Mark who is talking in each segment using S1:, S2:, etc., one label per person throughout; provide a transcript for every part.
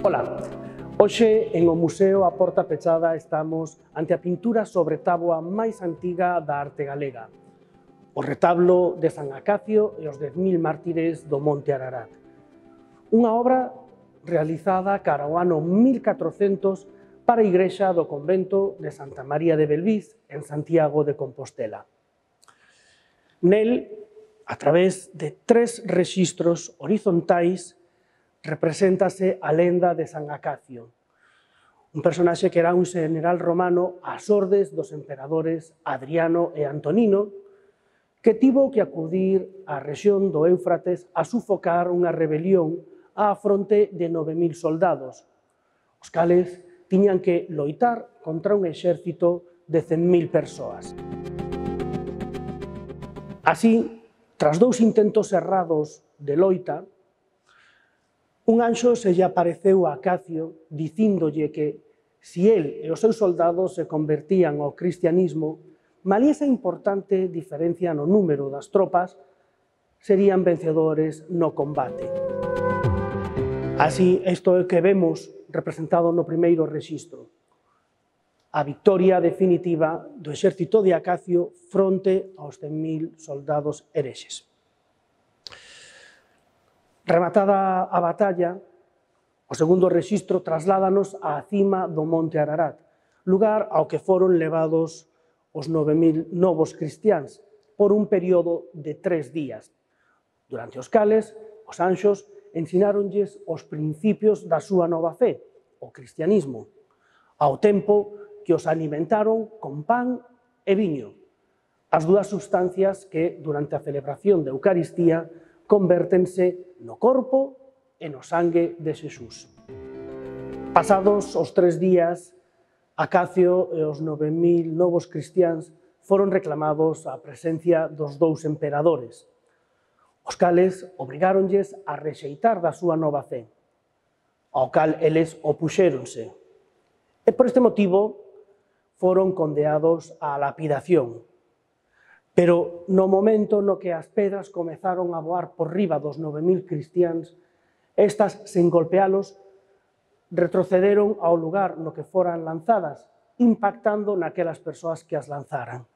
S1: Ola, hoxe en o Museo A Porta Pechada estamos ante a pintura sobre táboa máis antiga da arte galega, o retablo de San Acacio e os 10.000 mártires do Monte Ararat. Unha obra realizada cara ao ano 1400 para a igrexa do convento de Santa María de Belvís, en Santiago de Compostela. Nel, a través de 3 rexistros horizontais, represéntase a lenda de San Acacio, un personaxe que era un general romano ás ordes dos emperadores Adriano e Antonino, que tivo que acudir á rexión do Éufrates a sufocar unha rebelión á fronte de 9.000 soldados, os cales tiñan que loitar contra un exército de 100.000 persoas. Así, tras 2 intentos errados de loita, un anxo se lle apareceu a Acacio dicíndolle que, si el e os seus soldados se convertían ao cristianismo, malia esa importante diferencia no número das tropas, serían vencedores no combate. Así, isto é o que vemos representado no primeiro rexistro, a victoria definitiva do exército de Acacio fronte aos 100.000 soldados herexes. Rematada a batalla, o segundo rexistro trasládanos á cima do Monte Ararat, lugar ao que foron levados os 9.000 novos cristiáns por un período de 3 días, durante os cales os anxos ensináronlles os principios da súa nova fe, o cristianismo, ao tempo que os alimentaron con pan e viño, as dúas sustancias que, durante a celebración da Eucaristía, convértense no corpo e no sangue de Xesús. Pasados os 3 días, Acacio e os 9.000 novos cristiáns foron reclamados á presencia dos 2 emperadores, os cales obrigáronlles a rexeitar da súa nova fe, ao cal eles opuxéronse. E por este motivo foron condeados á lapidación. Pero no momento no que as pedras comezaron a voar por riba dos 9.000 cristiáns, estas, sen golpealos, retrocederon ao lugar no que foran lanzadas, impactando naquelas persoas que as lanzaran,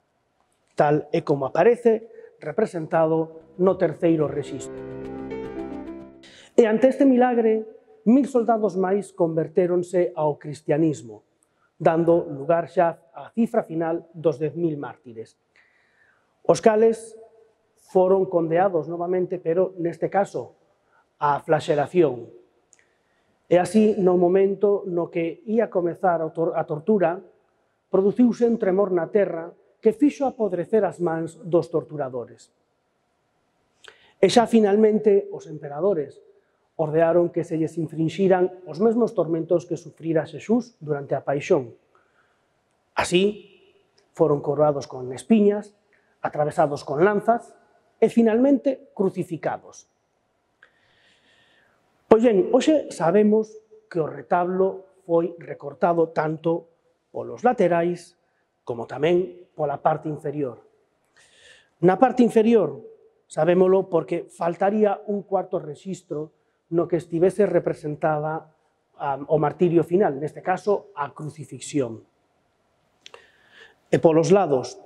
S1: tal e como aparece representado no terceiro rexistro. E ante este milagre, 1.000 soldados máis convertéronse ao cristianismo, dando lugar xa á cifra final dos 10.000 mártires, os cales foron condeados novamente, pero neste caso á flaxelación. E así, no momento no que ia comezar a tortura, produciuse un tremor na terra que fixo apodrecer as mans dos torturadores. E xa finalmente os emperadores ordearon que se lles infrinxiran os mesmos tormentos que sufrira Xesús durante a paixón. Así, foron coroados con espiñas, atravesados con lanzas e finalmente crucificados. Pois ben, hoxe sabemos que o retablo foi recortado tanto polos laterais como tamén pola parte inferior. Na parte inferior sabémolo porque faltaría un cuarto rexistro no que estivese representada o martirio final, neste caso a crucifixión. E polos lados,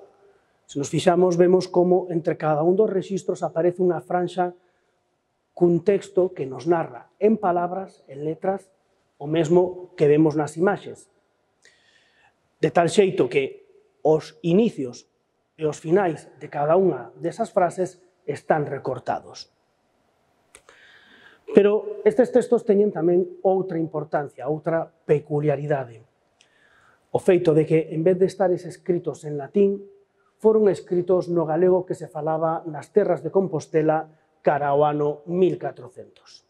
S1: se nos fixamos, vemos como entre cada un dos rexistros aparece unha franxa cun texto que nos narra en palabras, en letras, o mesmo que vemos nas imaxes. De tal xeito que os inicios e os finais de cada unha desas frases están recortados. Pero estes textos teñen tamén outra importancia, outra peculiaridade. O feito de que, en vez de estares escritos en latín, foron escritos no galego que se falaba nas terras de Compostela cara ao ano 1400.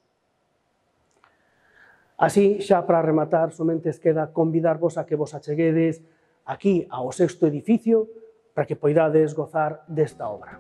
S1: Así, xa para rematar, somente queda convidarvos a que vos acheguedes aquí ao 6º edificio para que poidades gozar desta obra.